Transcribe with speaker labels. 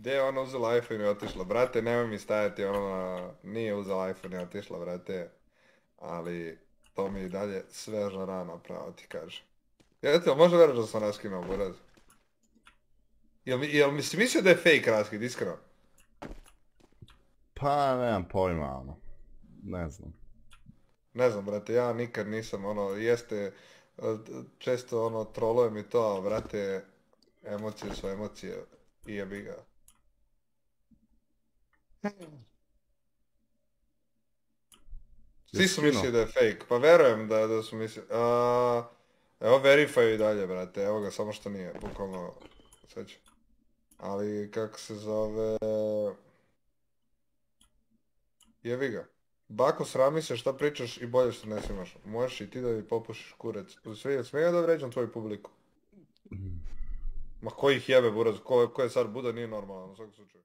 Speaker 1: Gdje je ona uzela iPhone i otišla? Brate, nemoj mi stajati, ona nije uzela iPhone i otišla, brate. Ali, to mi i dalje sveža rana, pravo ti kažem. Eto, može vjerati da sam raskinuo buraz? Jel mi si mislio da je fake raskid, iskreno?
Speaker 2: Pa, nemam pojma, ono. Ne znam.
Speaker 1: Ne znam, brate, ja nikad nisam, jeste, često, trolujem i to, ali, brate, emocije su emocije i jebi ga. Svi
Speaker 2: Jesi
Speaker 1: su
Speaker 2: skinuo?
Speaker 1: mislili da je fake, pa verujem da su mislili, evo verify i dalje, brate, evo ga, samo što nije, bukvalno, sad ću. Ali, kako se zove, jebi ga. Bako, srami se šta pričaš i bolje što ne snimaš. Možeš i ti da mi popušiš kurac. Smije da vređam tvoju publiku? Ma ko ih jebe, buraz, ko je sad Buda nije normalan u svakom slučaju.